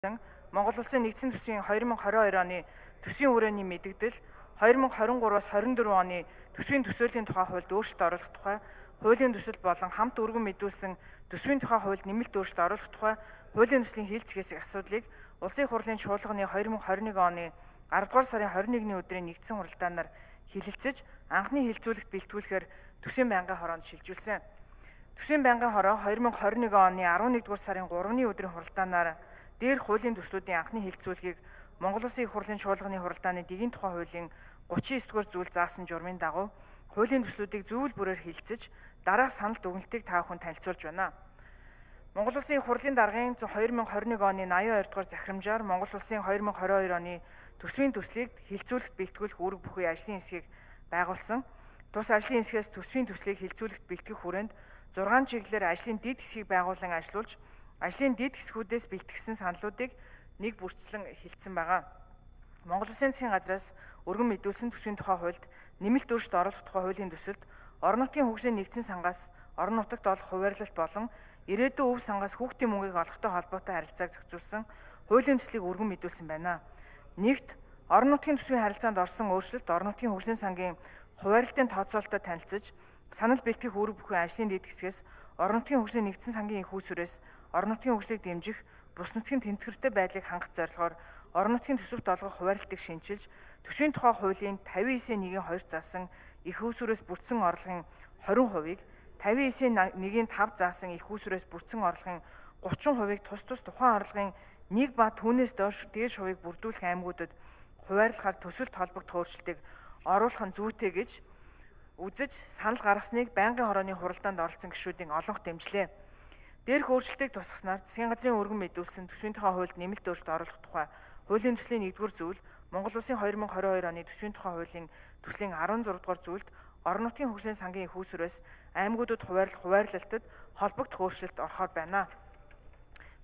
Монгол Улсын нэгдсэн төсвийн 2022 оны төсвийн хүрээний мэдэгдэл 2023-аас 24 оны төсвийн төсөөлийн тухай хуульд өөрчлөлт оруулах тухай, хуулийн төсөл болон хамт өргөн мэдүүлсэн төсвийн тухай хуульд нэмэлт өөрчлөлт оруулах тухай, хуулийн төслийн хийлцгээсийг асуудлыг Улсын их хурлын чуулганы 2021 оны 10 дугаар сарын 21-ний өдрийн нэгдсэн хуралдаанаар хилэлцэж, анхны хилцүүлэгт бэлтгүүлэхээр төсвийн байнгын хороонд шилжүүлсэн. Төсвийн байнгын хороо 2021 оны 11 дугаар сарын 3-ны өдрийн хуралдаанаар дээрх хуулийн төслүүдийн анхны хилцүүлгийг Монгол Улсын их хурлын чуулганы хуралдааны дэгийн тухай хуулийн 39-р зүйл заасан журмын дагуу хуулийн төслүүдийг зөвүүл бүрээр хилцэж дараах санал дүгнэлтийг та бүхэнд танилцуулж байна. Монгол Улсын их хурлын даргын 2021 оны 82 дугаар захирамжаар Монгол Улсын 2022 оны төсвийн төслийг хилцүүлэхт бэлтгүүлэх үүрэг бүхий ажлын хэсгийг байгуулсан. Тус ажлын хэсгээс төсвийн төслийг хилцүүлэхт бэлтгэх хүрээнд 6 чиглэлээр ажлын дэд хэсгийг байгуулан ажиллуулж, ажлын дэд хэсгүүдээс бэлтгэсэн саналуудыг нэг бүрчлэн хилцсэн байгаа. Монгол Улсын засгийн газраас өргөн мэдүүлсэн төсвийн тухай хуульд нэмэлт өөрчлөлт оруулах тухай хуулийн төсөлд орон нутгийн хөгжлийн нэгдсэн сангаас орон нутагт олох хуваарлалт болон ирээдүйн өв сангаас хүүхдийн мөнгийг олохтой холбоотой харилцааг зохицуулсан хуулийн төслийг өргөн мэдүүлсэн байна. Нэгт орон нутгийн төсвийн харилцаанд орсон өөрчлөлт орон нутгийн хөгжлийн сангийн хуваарлалтын тооцоололтой танилцж, санал бэлтгэх үүрэг бүхий ажлын дэд хэсгээс орон нутгийн хөгжлийн нэгдсэн сангийн их үүсвэрээс орон нутгийн хөгжлийг дэмжих, бус нутгийн тэнцвэртэй байдлыг хангах зорилгоор орон нутгийн төсөвт олгох хуваарлтыг шинжилж, төсвийн тухай хуулийн 59.1-2 заасан их үүсвэрээс бүрдсэн орлогын 20%-ийг 59.1-5 заасан их үүсвэрээс бүрдсэн орлогын 30%-ийг тус тухайн орлогын 1 ба түүнээс доош дээш хувийг бүрдүүлэх аймагуудад хуваарлахаар төсөлд холбогдох өөрчлөлтийг оруулах нь зүйтэй гэж үзэж санал гаргасныг байнгын хорооны хуралдаанд оролцсон гишүүдийн олонх дэмжлээ. Дээрх өөрчлөлтийг тусгаснаар засгийн газрын өргөн мэдүүлсэн төсвийн тухай хуульд нэмэлт өөрчлөлт оруулах тухай хуулийн төслийн 1-р зүйл, Монгол Улсын 2022 оны төсвийн тухай хуулийн төслийн 16-р зүйлд орон нутгийн хөгжлийн сангийн их үүсвэрээс аймагуудад хуваарлалтад холбогдох өөрчлөлт орохоор байна.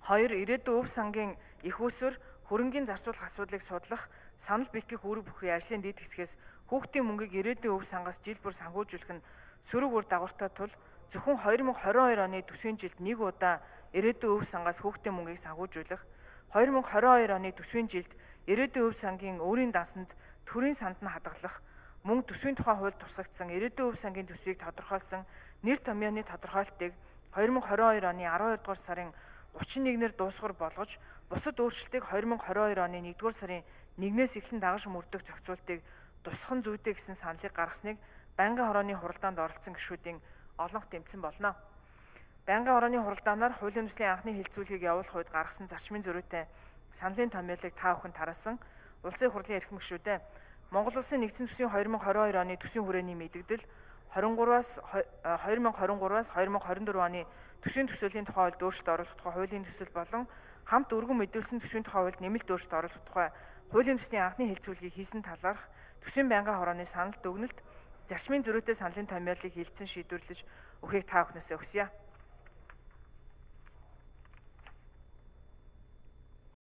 2. Ирээдүйн өв сангийн их үүсвэр хөрөнгийн зарцуулах асуудлыг судлах, санал бэлтгэх үүрэг бүхий ажлын дэд хэсгээс хүүхдийн мөнгийг ирээдүйн өв сангаас жил бүр санхүүжүүлэх нь сөрөг үр дагавартай тул зөвхөн 2022 оны төсвийн жилд нэг удаа ирээдүйн өв сангаас хүүхдийн мөнгийг санхүүжүүлэх, 2022 оны төсвийн жилд ирээдүйн өв сангийн өөрийн дансанд төрийн санд нь хадгалах, мөн төсвийн тухай хуульд тусгагдсан ирээдүйн өв сангийн төсвийг тодорхойлсон нэр томьёоны тодорхойлолтыг 2022 оны 12 дугаар сарын 31-ээр дуусгар болгож, бусад өөрчлөлтийг 2022 оны 1-р сарын 1-ээс эхлэн дагаж мөрдөх зохицуултыг тусгах нь зүйтэй гэсэн саналыг гаргасныг байнгын хорооны хуралдаанд оролцсон гишүүдийн олонх дэмжсэн болно. Байнгын хорооны хуралдаанаар хуулийн төслийн анхны хилцүүлгийг явуулах үед гаргасан зарчмын зөрүүтэй саналын томьёолыг та бүхэн тараасан Улсын хурлын эрхэм гишүүдээ Монгол Улсын нэгдсэн төсвийн 2022 оны төсвийн хүрээний мэдэгдэл 2023-аас 2024 оны төсвийн төсөөлийн тухай хуульд өөрчлөлт оруулах тухай хуулийн төсөл болон хамт өргөн мэдүүлсэн төсвийн тухай хуульд нэмэлт өөрчлөлт оруулах тухай хуулийн төслийн анхны хилцүүлгийг хийсэн талаарх төсвийн байнгын хорооны санал дүгнэлт, зарчмын зөрүүтэй саналын томьёолыг хилцэн шийдвэрлэж өгөхийг та бүхнээсээ хүсье.